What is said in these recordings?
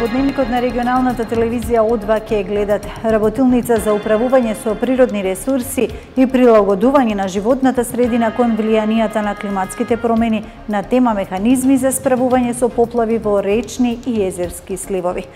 Во дневникот на регионалната телевизија О2 ќе гледат работилница за управување со природни ресурси и прилагодување на животната средина кон влијанијата на климатските промени на тема механизми за справување со поплави во речни и езерски сливови.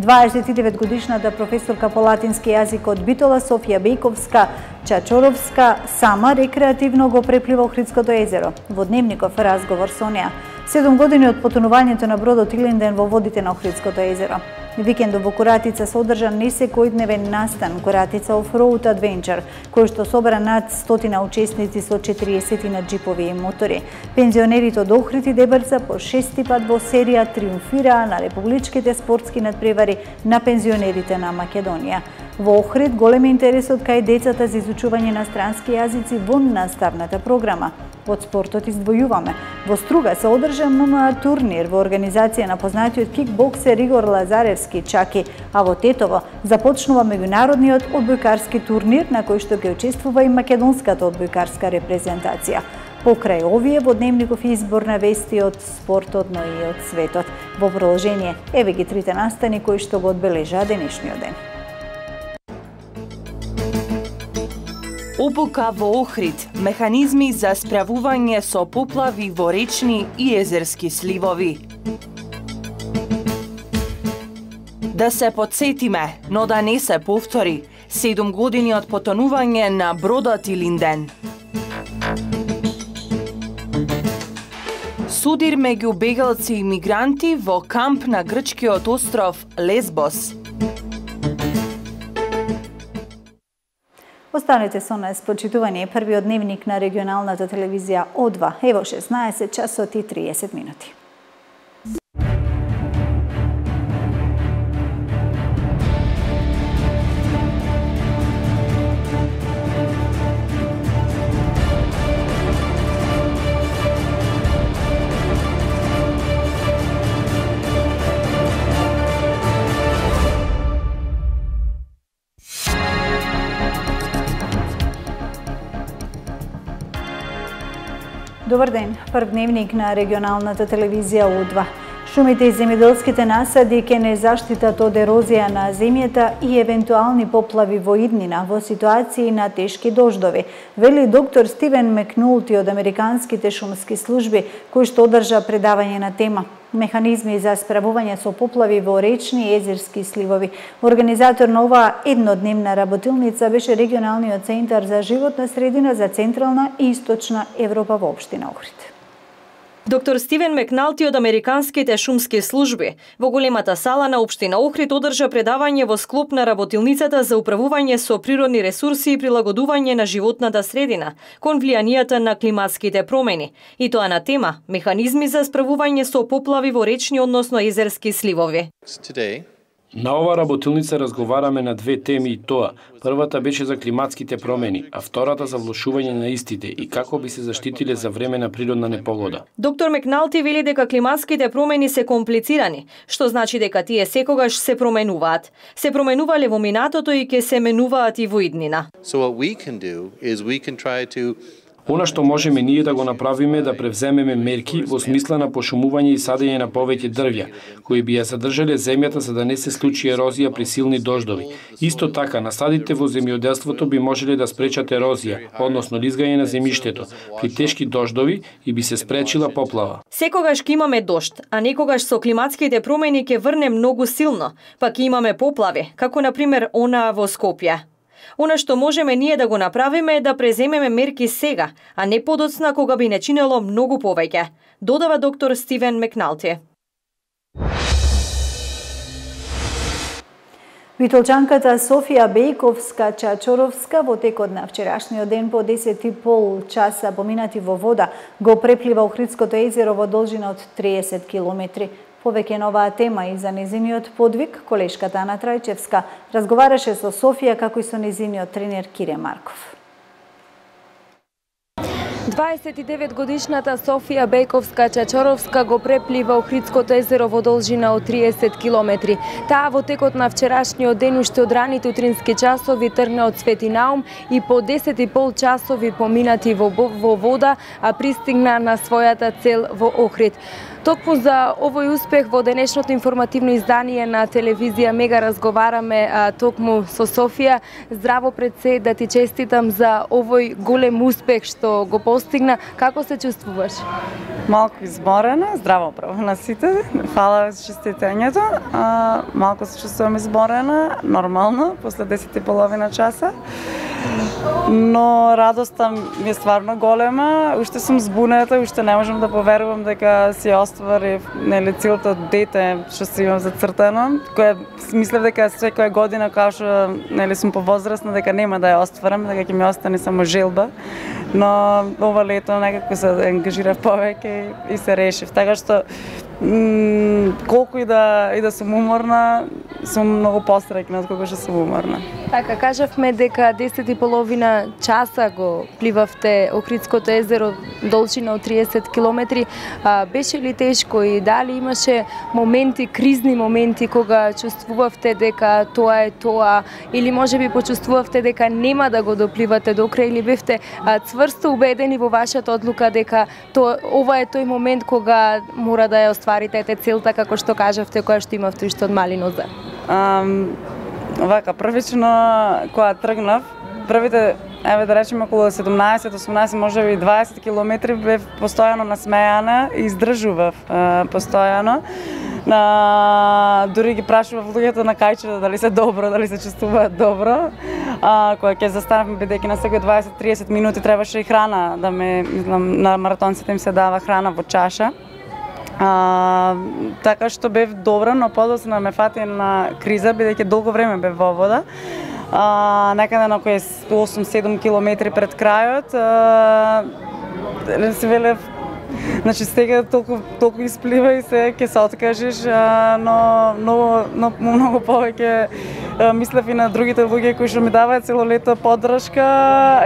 29-годишната професорка по латински јазик од Битола Софија Бејковска Чачоровска сама рекреативно го преплива Охридското езеро. Во дневников разговор со неа. 7 години од потонувањето на бродот Илинден во водите на Охридското езеро. Викендов во Коратица се одржа несекојдневен настан Коратица Off-Road Adventure, кој што собра над 100 учесници со 40 на джипови и мотори. Пензионерите од Охрид и Дебрца по 6 пат во серија триумфираа на републичките спортски надпревари на пензионерите на Македонија. Во Охрид голем интересот кај децата за изучување на странски јазици во наставната програма. Од спортот издвојуваме. Во Струга се одржа ММА турнир во организација на познатиот кикбоксер Игор Лазаревски Чаки, а во Тетово започнува меѓународниот одбојкарски турнир на кој што ќе учествува и македонската одбојкарска репрезентација. Покрај овие во дневников избор на вести од спортот, но и од светот. Во продолжение, еве ги трите настани кои што го одбележаа денешниот ден. Обука во Охрид, механизми за справување со поплави во речни и езерски сливови. Да се подсетиме, но да не се повтори, 7 години од потонување на бродот Илинден. Судир меѓу бегалци и мигранти во камп на грчкиот остров Лесбос. Останете со нас, почитувани, првиот дневник на регионалната телевизија О2. Ево 16 часот и 30 минути. Добар ден, прв дневник на регионалната телевизија О2. Шумите и земјоделските насади ќе не заштитат од ерозија на земјата и евентуални поплави во иднина во ситуации на тешки дождови, вели доктор Стивен Макнулти од Американските шумски служби, кој што одржа предавање на тема механизми за справување со поплави во речни и езерски сливови. Организатор на оваа еднодневна работилница беше регионалниот центар за животна средина за Централна и Источна Европа во општина Охрид. Доктор Стивен Макналти од Американските шумски служби во големата сала на општина Охрид одржа предавање во склоп на работилницата за управување со природни ресурси и прилагодување на животната средина кон влијанијата на климатските промени, и тоа на тема механизми за справување со поплави во речни, односно езерски сливови. На ова работилница разговараме на две теми и тоа. Првата беше за климатските промени, а втората за влошување на истите и како би се заштитиле за време на природна непогода. Доктор Макналти вели дека климатските промени се комплицирани, што значи дека тие секогаш се променуваат. Се променувале во минатото и ќе се менуваат и во иднина. Она што можеме ние да го направиме да превземеме мерки во смисла на пошумување и садење на повеќе дрвја, кои би ја задржале земјата за да не се случи ерозија при силни дождови. Исто така, насадите во земјоделството би можеле да спречат ерозија, односно лизгање на земјиштето, при тешки дождови и би се спречила поплава. Секогаш ќе имаме дожд, а некогаш со климатските промени ќе врне многу силно, па ќе имаме поплави, како на пример онаа во Скопје. Она што можеме ние да го направиме е да преземеме мерки сега, а не подоцна кога би не чинело многу повеќе, додава доктор Стивен Макналти. Битолчанката Софија Бејковска Чачоровска во текот на вчерашниот ден по 10,5 часа поминати во вода го преплива Охридското езеро во должина од 30 километри. Повеќе на оваа тема и за незиниот подвиг, колешката Ана Трајчевска разговараше со Софија како и со незиниот тренер Кире Марков. 29-годишната Софија Бејковска-Чачоровска го преплива Охридското езеро во должина од 30 километри. Таа во текот на вчерашниот ден уште од раните утрински часови тргна од Свети Наум и по 10,5 часови поминати во вода, а пристигна на својата цел во Охрид. Токму за овој успех во денешното информативно издание на телевизија Мега разговараме токму со Софија. Здраво пред се, да ти честитам за овој голем успех што го постигна. Како се чувствуваш? Малку изморена, здраво право на сите. Фала за честитањето. Малку се чувствувам изморена, нормално, после 10,5 часа. Но радоста ми е стварно голема. Уште сум збунета, уште не можам да поверувам дека си остварив целото дете што си имам зацртано, кое мислев дека секоја година као што сум повозрасна дека нема да ја остварам, дека ќе ми остане само желба. Но ова лето некако се ангажирав повеќе и се решив. Така што колку и да сум уморна, сум многу посреќна од кога што сум уморна. Така, кажавме дека 10,5 часа го пливавте Охридското езеро, должина од 30 километри. Беше ли тешко и дали имаше моменти, кризни моменти, кога чувствувавте дека тоа е тоа, или можеби почувствувавте дека нема да го допливате до крај, или бевте цврсто убедени во вашата одлука дека ова е тој момент кога мора да ја остварите целта, како што кажавте, која што имавте уште од мали нозе? Вака, првично кога тргнав, првите, да речеме, околу 17-18, можеби 20 километри бев постојано насмејана и издржував постојано. Дури ги прашував луѓето на кајчето дали се добро, дали се чувствуваат добро. Кога ќе застанавме, бидејќи на секој 20-30 минути требаше и храна, на маратонците им се дава храна во чаша. Така што бев добра, но подоцна ме фати на криза, бидејќи долго време бев во вода. Некаде на кој 8-7 километри пред крајот, се велев, значи сега толку исплива и се ќе се откажеш, но многу повеќе мислев и на другите луѓе кои што ми даваат цело лето поддршка,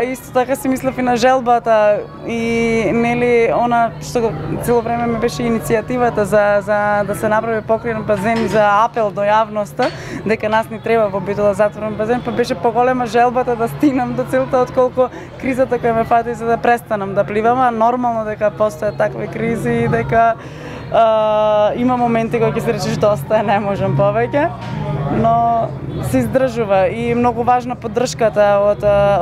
исто така си мислев и на желбата и нели она што цело време ми беше иницијативата за да се направи покриен базен, за апел до јавноста дека нас ни треба во Битола затворен базен, па беше поголема желбата да стигнам до целта отколку кризата која ме фати за да престанам да пливам, а нормално дека постојат такви кризи и дека има моменти кога ќе се речеш доста, не можам повеќе, но се издржува и многу важна поддршката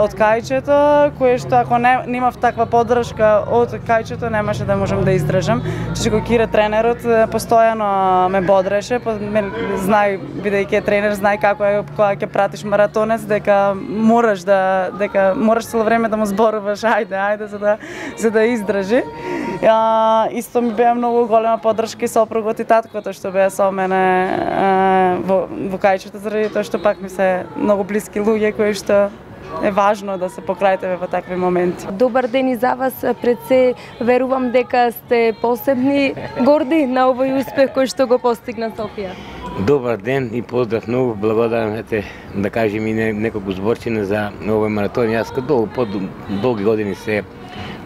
од кајчето, кое што ако немав таква поддршка од кајчето немаше да можам да издржам. Чичко Кире тренерот постојано ме бодреше, знај бидејќи е тренер, знај како е кога ќе пратиш маратонец дека мораш цело време да му зборуваш ајде за да издржи. Исто ми беа многу голема поддршка и сопругот и таткото што беа со мене во кајчето, заради тоа што пак ми се многу блиски луѓе кои што е важно да се покрај тебе во такви моменти. Добар ден и за вас, пред се верувам дека сте посебни, горди на овој успех кој што го постигна Софија. Добар ден и поздрав, многу благодарам, да кажем и неколку зборчина за овој маратон. Јас како долги години се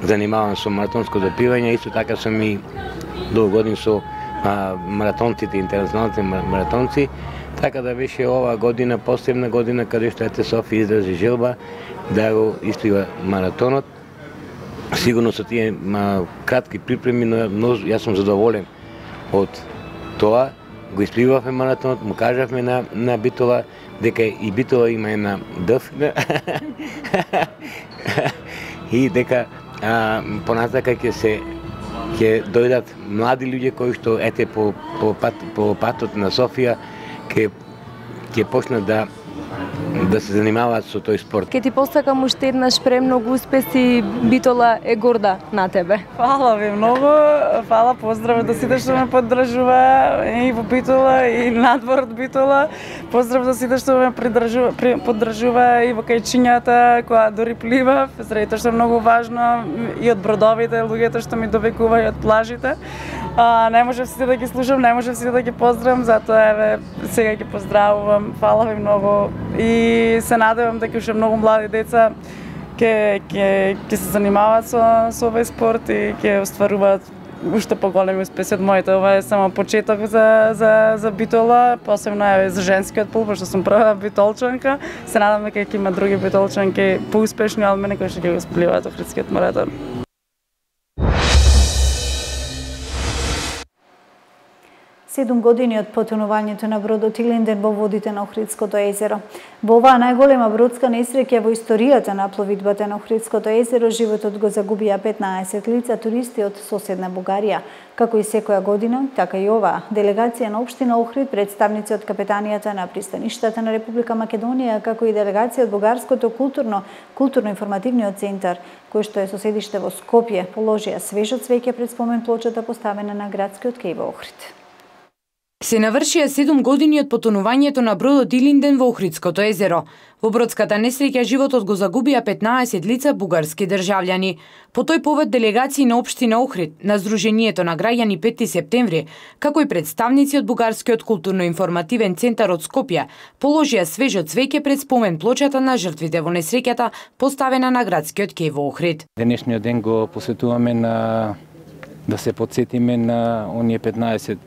занимавам со маратонско допивање, исто така сум и долги години со маратонците, интернационалните маратонци, така да беше ова година посебна година каде што Софија изрази желба да го исплива маратонот. Сигурно со тие кратки припреми, но јас сум задоволен од тоа. Го испливавме маратонот, му кажавме на Битола дека и Битола има една дъв и дека понатака ќе дојдат млади луѓе кои што по патот на Софија ќе почнат да се занимаваат со тој спорт. Ке ти посакам уште еднаш премногу успеси, Битола е горда на тебе. Фала ви многу, фала, поздрав до сите што ме поддржува и во Битола и надвор од Битола. Поздрав до сите што ме поддржува и во кајчињата која дори пливав, заради тоа што е многу важно и од бродовите, луѓето што ми довекуваат од плажите. Не можев сите да ги слушам, не можев сите да ги поздравам, затоа сега ги поздравувам. Фала ви многу и се надевам дека уште многу млади деца ќе се занимаваат со овој спорт и ќе остваруваат уште поголеми успеси од моите. Ова е само почеток за битола, посебно е за женскиот пол, пошто сум прва битолчанка. Се надам дека ќе има други битолчанки поуспешни од мене кои ќе го испливаат Охридскиот маратон. Седум години од потонувањето на бродот Илинден во водите на Охридското езеро. Во оваа најголема бродска несреќа во историјата на пловидбата на Охридското езеро, животот го загубија 15 лица туристи од соседна Бугарија. Како и секоја година, така и ова, делегација на општина Охрид, представници од капетанијата на пристаништата на Република Македонија, како и делегација од Бугарското културно-информативниот центар, кој што е со седиште во Скопје, положија свежо цвеќе пред спомен плочата поставена на градскиот кеј во Охрид. Се навршија 7 години од потонувањето на бродот Илинден во Охридското езеро. Во бродската несреќа животот го загубија 15 лица бугарски државјани. По тој повод делегации на општина Охрид, на Сдруженијето на граѓани 5 септември, како и представници од Бугарскиот културно-информативен центар од Скопје, положија свежо цвеќе пред спомен плочата на жртвите во несреќата, поставена на градскиот кеј во Охрид. Денешниот ден го посветуваме да се потсетиме на оние 15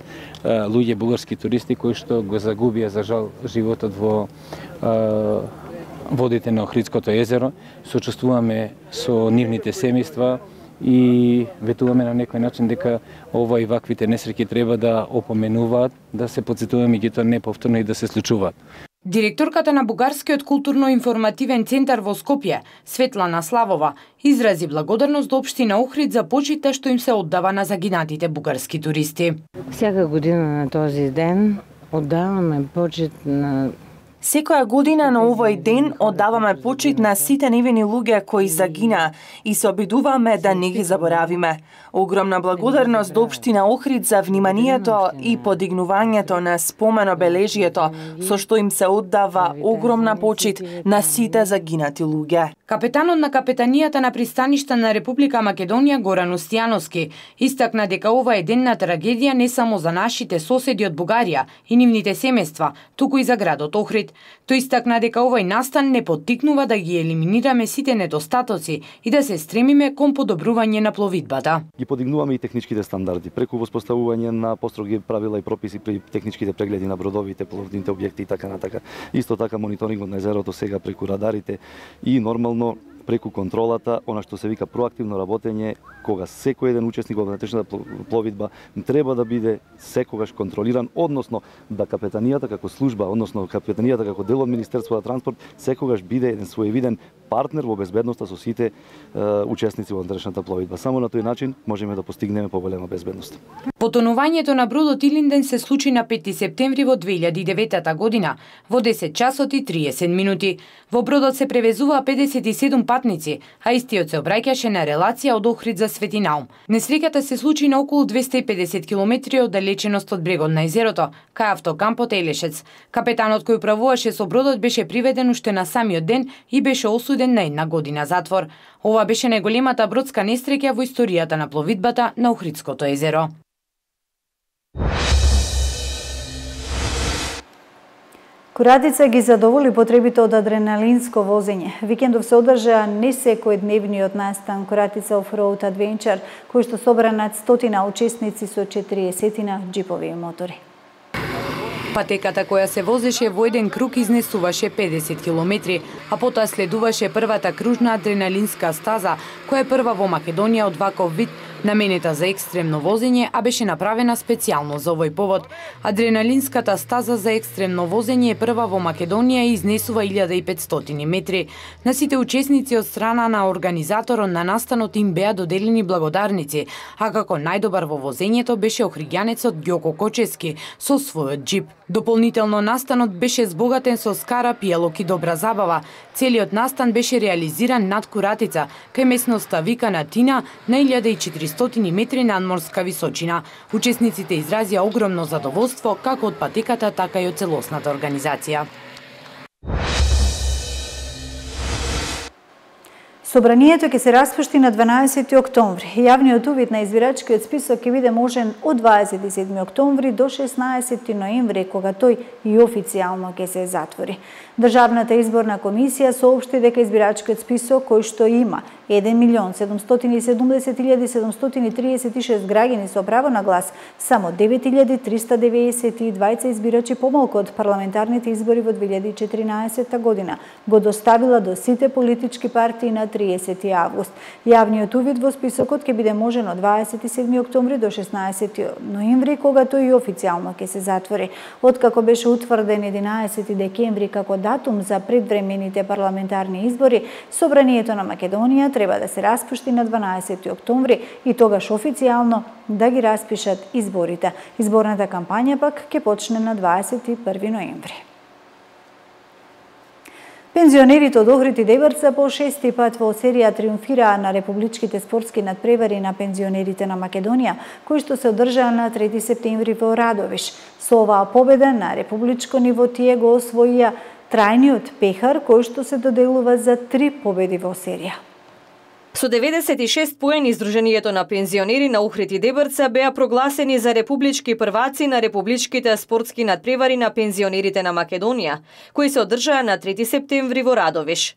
луѓе бугарски туристи кои што го загубија за жал животот во водите на Охридското езеро. Сочувствуваме со нивните семејства и ветуваме на некој начин дека ова и ваквите несреќи треба да опоменуваат, да се потсетуваме ги тоа неповторно и да се случуваат. Директорката на Бугарскиот културно-информативен центар во Скопје, Светлана Славова, изрази благодарност до општина Охрид за почитта што им се оддава на загинатите бугарски туристи. Всяка година на този ден оддаваме почит на Секоја година на овој ден оддаваме почит на сите невини луѓе кои загинаа и се обидуваме да не ги заборавиме. Огромна благодарност до општина Охрид за вниманието и подигнувањето на споменобележието со што им се оддава огромна почит на сите загинати луѓе. Капетанот на капетанијата на пристаништа на Република Македонија Горан Устијановски истакна дека ова е ден на трагедија не само за нашите соседи од Бугарија и нивните семејства, туку и за градот Охрид. Тој истакна дека овој настан не поттикнува да ги елиминираме сите недостатоци и да се стремиме кон подобрување на пловидбата. Ги подигнуваме и техничките стандарди преку воспоставување на построги правила и прописи при техничките прегледи на бродовите, пловните објекти и така натака. Исто така мониторингот на езерото сега преку радарите и нормално преку контролата, она што се вика проактивно работење, кога секој еден учесник во внатрешната пловидба треба да биде секогаш контролиран, односно да капетанијата како служба, односно капетанијата како дел од Министерството за транспорт секогаш биде еден своевиден партнер во безбедноста со сите учесници во внатрешната пловидба. Само на тој начин можеме да постигнеме поголема безбедност. Потонувањето на бродот Илинден се случи на 5 септември во 2009 година во 10 часот и 30 минути. Во бродот се превезуваа 57 патници, а истиот се обраќаше на релација од Охрид за Светинаум. Несреќата се случи на околу 250 километри оддалеченост од брегот на езерото, кај автокампот Елешец. Капетанот кој управуваше со бродот беше приведен уште на самиот ден и беше осуден на 1 година затвор. Ова беше најголемата бродска несреќа во историјата на пловидбата на Охридското езеро. Куратица ги задоволи потребите од адреналинско возење. Викендов се одржа не секојдневниот настан Куратица Off-Road Adventure, кој што собра над 100 учесници со 40 џипови и мотори. Патеката која се возеше во еден круг изнесуваше 50 километри, а потоа следуваше првата кружна адреналинска стаза, која е прва во Македонија од ваков вид, наменета за екстремно возење, а беше направена специјално за овој повод. Адреналинската стаза за екстремно возење е прва во Македонија и изнесува 1500 метри. На сите учесници од страна на организаторот на настанот им беа доделени благодарници, а како најдобар во возењето беше охриѓанецот Ѓоко Кочески со својот џип. Дополнително настанот беше збогатен со скара, пијалок и добра забава. Целиот настан беше реализиран над Куратица, кај местноста викана Тина на 1400 метри надморска височина. Учесниците изразија огромно задоволство како од патеката, така и од целосната организација. Собранието ќе се распушти на 12 октомври. Јавниот увид на избирачкиот список ќе биде можен од 27 октомври до 16 ноември, кога тој и официјално ќе се затвори. Државната изборна комисија соопшти дека избирачкиот список, кој што има 1.770.736 граѓани со право на глас, само 9.392 избирачи помалку од парламентарните избори во 2014 година, го доставила до сите политички партии на 30 август. Јавниот увид во списокот ќе биде можен од 27 октомври до 16 ноември, кога тој и официјално ќе се затвори. Откако беше утврден 11 декември како датум за предвремените парламентарни избори, Собранието на Македонија треба да се распушти на 12 октомври и тогаш официјално да ги распишат изборите. Изборната кампања пак ќе почне на 21 ноември. Пензионерите од Охрид и Дебрца по 6-ти пат во серија триумфираа на републичките спортски надпревари на пензионерите на Македонија, кои што се одржаа на 3 септември во Радовиш. Со оваа победа на републичко ниво тие го освоија трајниот пехар, кој што се доделува за 3 победи во серија. Со 96 поени Сдруженијето на пензионери на Охрид и Дебрца беа прогласени за републички прваци на републичките спортски надпревари на пензионерите на Македонија, кои се одржаа на 3 септември во Радовиш.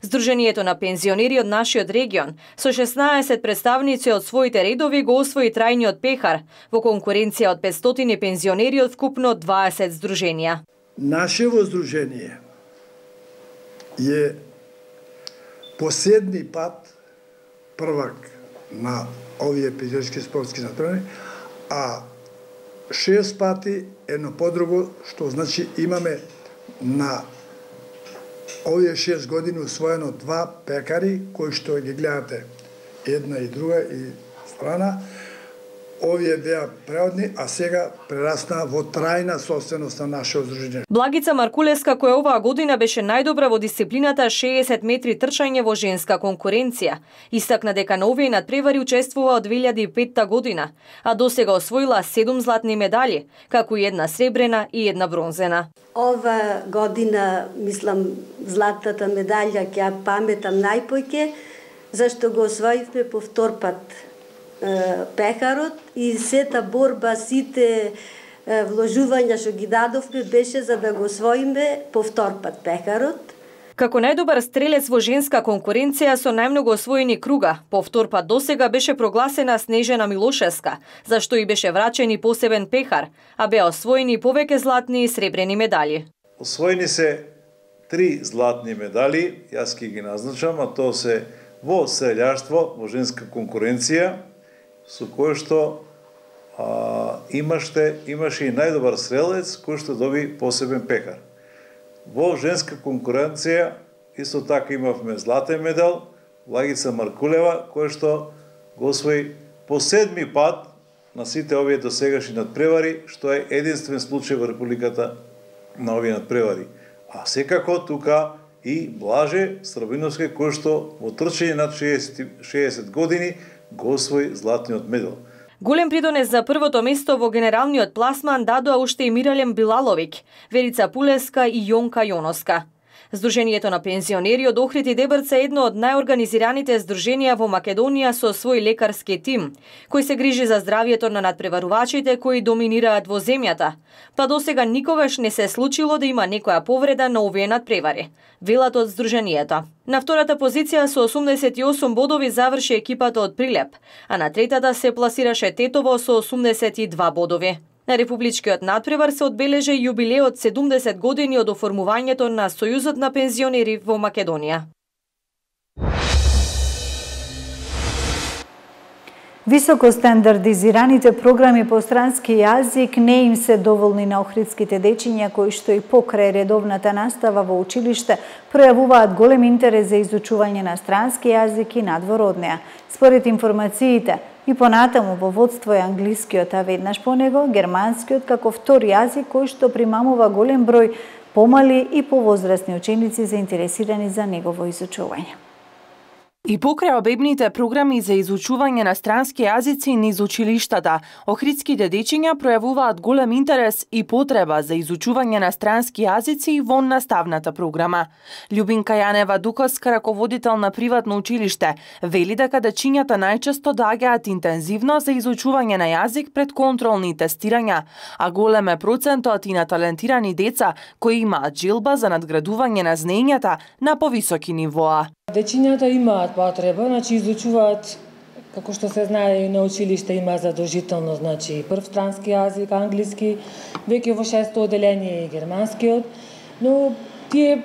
Сдруженијето на пензионери од нашиот регион со 16 представници од своите редови го освои трајниот пехар во конкуренција од 500 пензионери од вкупно 20 здруженија. Нашево здружение е последни пат првак на овие пензионерски спортски надпревари, а 6 пати едно подруго, што значи имаме на овие 6 години усвоено 2 пекари, кои што ги гледате една и друга и страна. Овие беа преодни, а сега прераснаа во трајна собственост на нашето здружение. Благица Маркулеска, која оваа година беше најдобра во дисциплината 60 метри трчање во женска конкуренција, истакна дека на овие надпревари учествува од 2005 година, а досега освоила 7 златни медали, како и една сребрена и една бронзена. Ова година, мислам, златната медалја ќе ја паметам најпоќе, зашто го освоивме по втор пат пехарот и сета борба, сите вложувања што ги дадовме беше за да го освоиме по втор пат пехарот. Како најдобар стрелец во женска конкуренција со најмногу освоени круга, по втор пат досега беше прогласена Снежана Милошевска, зашто и беше врачен и посебен пехар, а беа освоени повеќе златни и сребрени медали. Освоени се 3 златни медали, јас ќе ги назначам, а тоа се во стрелјаштво, во женска конкуренција, со кој што имаше и најдобар стрелец, кој што доби посебен пекар. Во женска конкуренција исто така имавме златен медал, Благица Маркулева, кој што го освои по 7-ми пат на сите овие досегашни надпревари, што е единствен случај во Републиката на овие надпревари. А секако тука и Блаже Страбиновски, кој што во трчање над 60 години го освои златниот медал. Голем придонес за првото место во генералниот пласман дадоа уште и Миралем Билаловик, Верица Пулеска и Јонка Јоноска. Сдруженијето на пензионери од Охрид и Дебрца е едно од најорганизираните здруженија во Македонија со свој лекарски тим, кој се грижи за здравјето на надпреварувачите кои доминираат во земјата, па досега никогаш не се случило да има некоја повреда на овие надпревари, велат од здруженијето. На втората позиција со 88 бодови заврши екипата од Прилеп, а на третата се пласираше Тетово со 82 бодови. На републичкиот надпревар се одбележа јубилеот 70 години од оформувањето на Сојузот на пензионери во Македонија. Високо стандардизираните програми по странски јазик не им се доволни на охридските дечиња кои што и покрај редовната настава во училиште пројавуваат голем интерес за изучување на странски јазик и надвор од неа. Според информациите, и понатаму во водство е англискиот, а веднаш по него германскиот како втор јазик кој што примамува голем број помали и повозрасни ученици заинтересирани за негово изучување. И покрај обебните програми за изучување на странски јазици низ училиштата, охридските дечиња пројавуваат голем интерес и потреба за изучување на странски јазици во наставната програма. Љубинка Јанева Дуковска, раководител на приватно училиште, вели дека дечињата најчесто доаѓаат интензивно за изучување на јазик пред контролни тестирања, а голем е процентот и на талентирани деца кои имаат желба за надградување на знаењата на повисоки нивоа. Дечињата имаат потреба, изучуваат, како што се знае и на училиште има задолжително, прв странски јазик, англиски, веќе во 6-то оделение и германскиот, но тие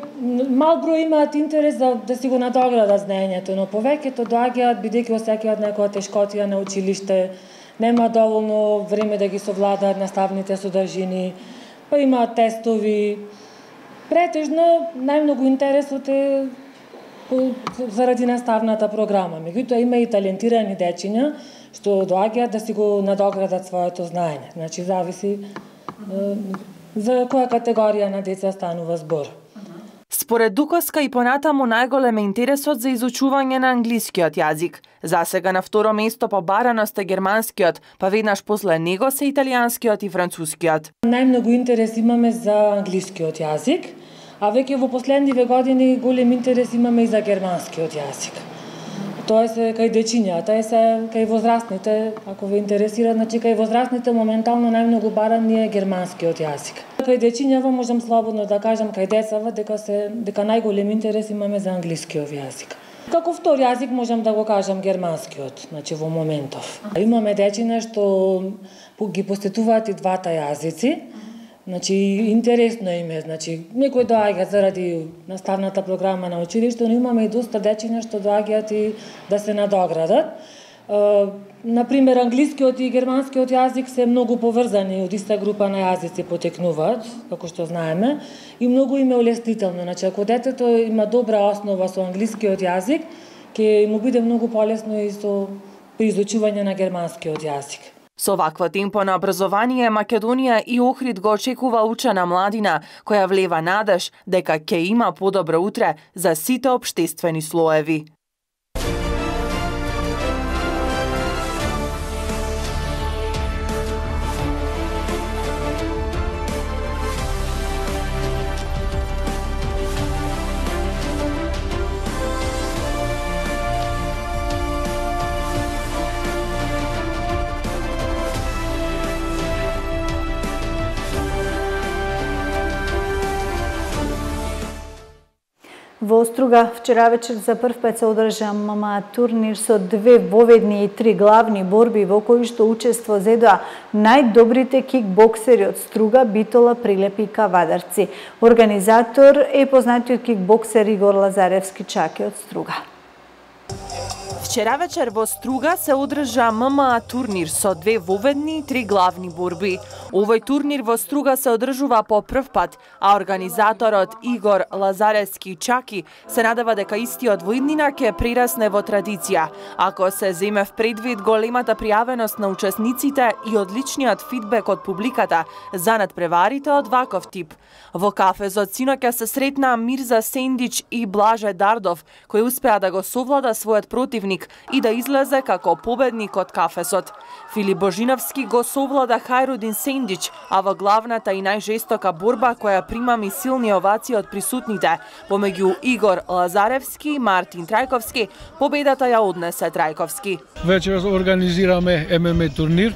мал број имаат интерес да си го надоградат знаењето, но повеќето доаѓаат бидејќи осеќаат некоја тешкотија на училиште, нема доволно време да ги совладаат наставните содржини, па имаат тестови. Претежно најмногу интересот е заради наставната програма. Меѓутоа има и талентирани дечиња што доаѓаат да си го надоградат своето знаење. Зависи за која категорија на деца станува збор. Според Дуковска и понатаму најголем е интересот за изучување на англискиот јазик. Засега на второ место по бараност е германскиот, па веднаш после него се италијанскиот и францускиот. Најмногу интерес имаме за англискиот јазик, а веќе во последниве години голем интерес имаме и за германскиот јазик. Тоа се кај дечињата, е се кај возрастните, ако ве интересира, кај возрастните моментално најмногу баран е германскиот јазик. Кај дечињава можам слободно да кажам кај децава дека најголем интерес имаме за англискиот јазик. Како втор јазик можам да го кажам германскиот, во моментов. Имаме дечиња што ги посетуваат и двата јазици. Интересно им е, некои доаѓаат заради наставната програма на училиште, но имаме и доста дечиња што доаѓаат и да се надоградат. Например, англискиот и германскиот јазик се многу поврзани, од иста група на јазици потекнуваат, како што знаеме, и многу им е улеснително. Ако детето има добра основа со англискиот јазик, ќе му биде многу полесно и при изучување на германскиот јазик. Со вакво темпо на образование, Македонија и Охрид го очекува учена младина, која влева надеж дека ќе има подобро утре за сите општествени слоеви. Во Оструга вчера вечер за прв пат се одржа ММА турнир со 2 воведни и 3 главни борби во кои што учество зедоа најдобрите кикбоксери од Струга, Битола, Прилепи и Кавадарци. Организатор е познатиот кикбоксер Игор Лазаревски Чаки од Струга. Вчера вечер во Струга се одржа ММА турнир со 2 воведни и 3 главни борби. Овој турнир во Струга се одржува по прв пат, а организаторот Игор Лазаревски Чаки се надева дека истиот во иднина ќе прерасне во традиција, ако се земе в предвид големата пријавеност на учесниците и одличниот фидбек од публиката за надпреварите од ваков тип. Во кафезот синоќа се сретна Мирза Сендич и Блаже Дардов, кој успеа да го совлада својот противник и да излезе како победник од кафесот. Филип Божиновски го совлада Хајрудин Сендич, а во главната и најжестока борба која прима силни овации од присутните, помеѓу Игор Лазаревски и Мартин Трајковски, победата ја однесе Трајковски. Вечерас организираме ММА турнир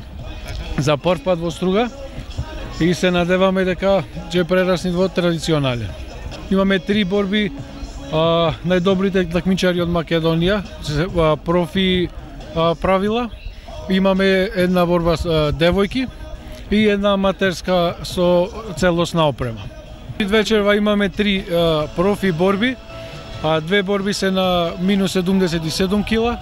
за прв пат во Струга и се надеваме дека ќе прерасне во традиционален. Имаме 3 борби, најдобрите такмичари од Македонија, профи правила. Имаме една борба со девојки и една аматерска со целосна опрема. Вечерва имаме 3 профи борби, 2 борби се на минус 77 кила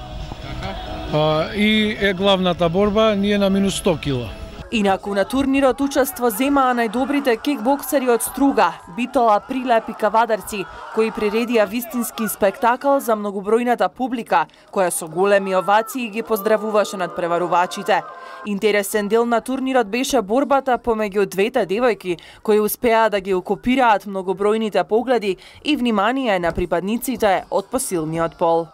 и е главната борба ние на минус 100 кила. Инаку на турнирот учество земаа најдобрите кикбоксери од Струга, Битола, Прилеп и Кавадарци, кои приредија вистински спектакл за многобројната публика, која со големи овации ги поздравуваше надпреварувачите. Интересен дел на турнирот беше борбата помеѓу двете девојки, кои успеа да ги окупираат многобројните погледи и внимание на припадниците од посилниот пол.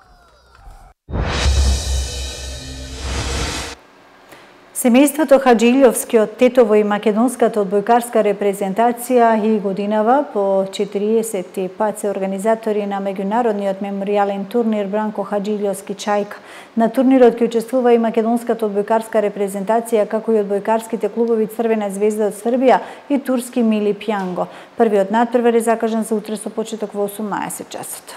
Семејството Хаджилјовски од Тетово и македонската одбојкарска репрезентација и годинава по 40 пат се организатори на меѓународниот меморијален турнир Бранко Хаджилјовски Чајка. На турнирот ќе учествува и македонската одбојкарска репрезентација, како и одбојкарските клубови Црвена звезда од Србија и турски Мили Пјанго. Првиот натпревар е закажан за утре со почеток во 18 часот.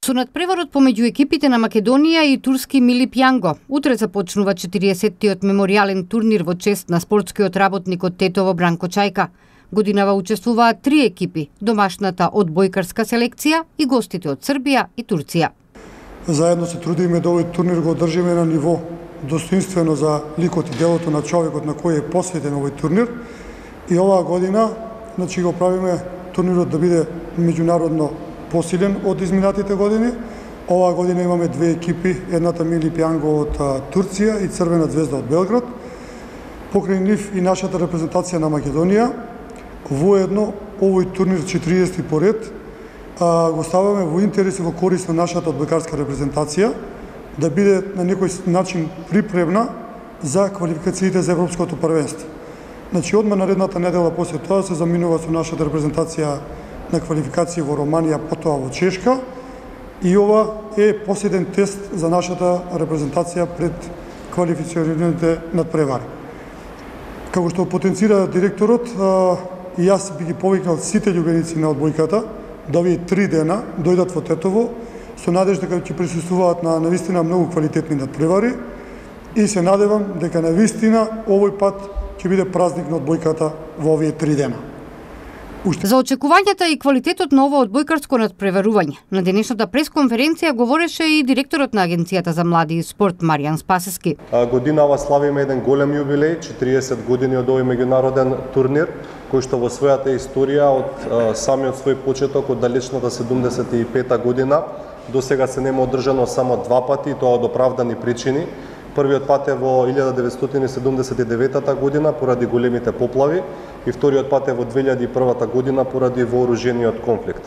Со надпреварот помеѓу екипите на Македонија и турски Мили Пјанго, утре започнува 40-тиот меморијален турнир во чест на спортскиот работник од Тетово Бранко Чајка. Годинава учествуваат 3 екипи, домашната одбојкарска селекција и гостите од Србија и Турција. Заедно се трудиме да овој турнир го одржиме на ниво достоинствено за ликот и делото на човекот на кој е посветен овој турнир. И оваа година, го правиме турнирот да биде меѓународно посилен од изминатите години. Оваа година имаме 2 екипи, едната Мили Пјанго од Турција и Црвена звезда од Белград. Покрај нив и нашата репрезентација на Македонија. Воедно овој турнир 40 поред го ставаме во интерес и во корист на нашата одбојкарска репрезентација да биде на некој начин припремна за квалификациите за Европското првенство. Одма наредната недела после тоа се заминува со нашата репрезентација на квалификација во Романија, потоа во Чешка, и ова е последен тест за нашата репрезентација пред квалифицираните надпревари. Како што потенцира директорот, и јас би ги повикнал сите љубеници на одбојката да овие 3 дена дојдат во Тетово со надежда дека ќе присуствуваат на навистина многу квалитетни надпревари и се надевам дека навистина овој пат ќе биде празник на одбојката во овие 3 дена. За очекувањата и квалитетот на ово одбојкарско надпреварување, на денешната пресконференција говореше и директорот на Агенцијата за млади и спорт Маријан Спасески. Годинава славиме еден голем јубилеј, 40 години од овој меѓународен турнир, кој што во својата историја од самиот свој почеток од далечната 75-та година до сега се нема одржано само 2 пати, и тоа од оправдани причини. Првиот пат е во 1979 година поради големите поплави и вториот пат е во 2001 година поради вооружениот конфликт.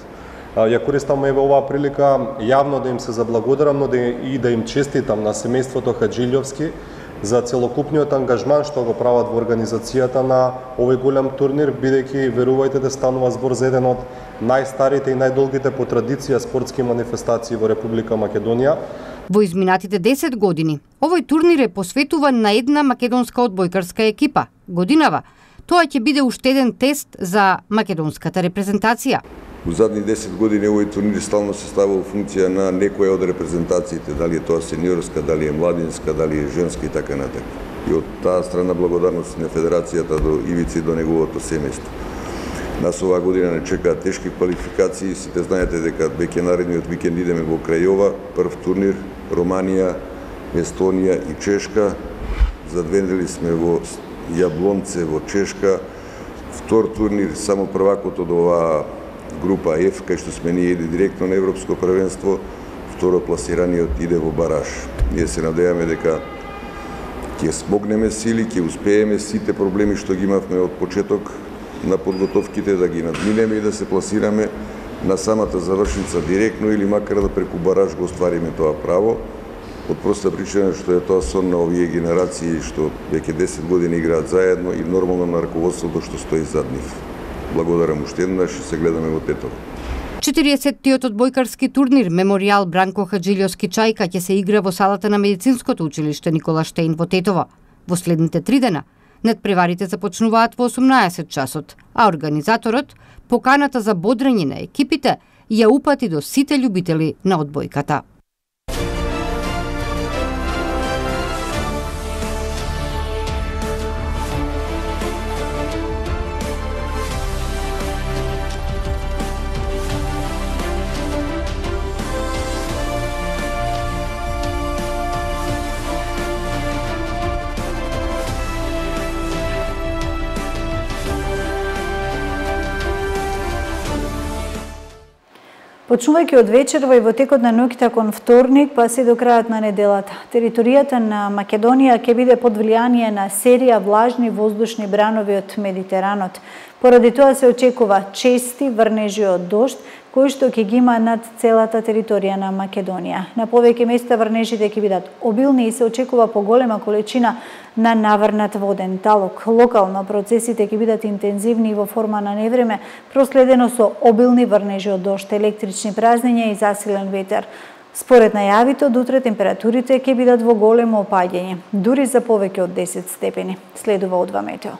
Ја користам еве оваа прилика јавно да им се заблагодарам, но и да им честитам на семејството Хаджилјовски за целокупниот ангажман што го прават во организацијата на овој голем турнир, бидејќи, верувајте, да станува збор за еден од најстарите и најдолгите по традиција спортски манифестации во Република Македонија. Во изминатите 10 години, овој турнир е посветуван на една македонска одбојкарска екипа. Годинава, тоа ќе биде уште еден тест за македонската репрезентација. У задни 10 години овој турнир стално се става во функција на некоја од репрезентациите, дали е тоа сениорска, дали е младинска, дали е женска и така натаму. И од таа страна благодарност на федерацијата до Ивици, до неговото семејство. Нас оваа година не чекаат тешки квалификации, сите знаете дека веќе наредниот викенд идеме во Крајова, прв турнир Романија, Естонија и Чешка. За 2 недели сме во Јаблонце во Чешка. Втор турнир, само првакот од оваа група F, кај што сме ние иде директно на Европско првенство, второ пласираниот иде во бараж. Ние се надеваме дека ќе смогнеме сили, ќе успееме сите проблеми што ги имавме од почеток на подготовките да ги надминеме и да се пласираме на самата завршница директно или макар да преку бараж го оствариме тоа право. Од проста причина што е тоа сон на овие генерации што веќе 10 години играат заедно и нормално на раководството што стои зад нив. Благодарам уште еднаш и се гледаме во Тетово. 40-тиот одбојкарски турнир Меморијал Бранко Хаджилјовски Чајка ќе се игра во салата на Медицинското училиште Никола Штеин во Тетово. Во следните 3 дена надпреварите започнуваат во 18 часот, а организаторот поканата за бодрење на екипите ја упати до сите љубители на одбојката. Почнувајќи од вечерва и во текот на ноќта кон вторник, па се до крајот на неделата, територијата на Македонија ќе биде под влијание на серија влажни воздушни бранови од Медитеранот. Поради тоа се очекува чести врнежи од дожд, кои што ќе ги има над целата територија на Македонија. На повеќе места врнежите ќе бидат обилни и се очекува поголема количина на наврнат воден талок. Локално процесите ќе бидат интензивни во форма на невреме, проследено со обилни врнежи од дожд, електрични празнења и засилен ветер. Според најавите, од утре температурите ќе бидат во големо опаѓање, дури за повеќе од 10 степени. Следува О2 Метео.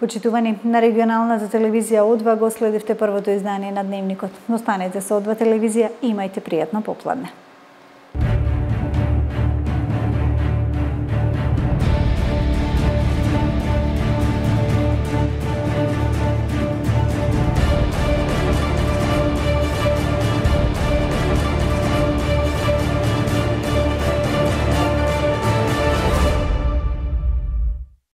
Почитувани, на регионалната телевизија О2 го следивте првото издание на Дневникот. Останете со О2 телевизија и имајте пријатно попладне.